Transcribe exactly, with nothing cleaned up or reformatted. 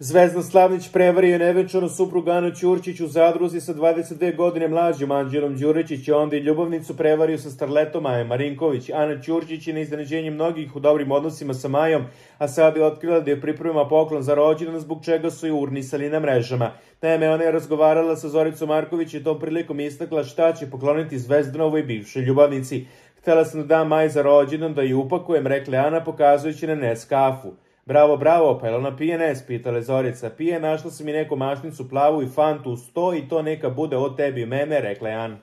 Zvezdan Slavnić prevario nevenčanu suprugu Anu Ćurčić u zadruzi sa dvadeset dve godine mlađom Anđelom Đuričić, a onda i ljubavnicu prevario sa starletom Majom Marinković. Ana Ćurčić je na iznenađenje mnogih u dobrim odnosima sa Majom, a sad je otkrila da je priprema poklon za rođendan, zbog čega su je urnisali na mrežama. Naime, ona je razgovarala sa Zoricom Marković i tom prilikom istakla šta će pokloniti Zvezdanovoj bivšoj ljubavnici. Htela sam da dam Maji za rođendan, da ju upakujem, rekla Ana, pokazujući na Nes kafu. Bravo, bravo, pa je ona pije Nes, pitala Zorica. Pije, našla sam i neku mašnicu plavu i fantu u sto i to neka bude od tebi i mene, rekla je Ana.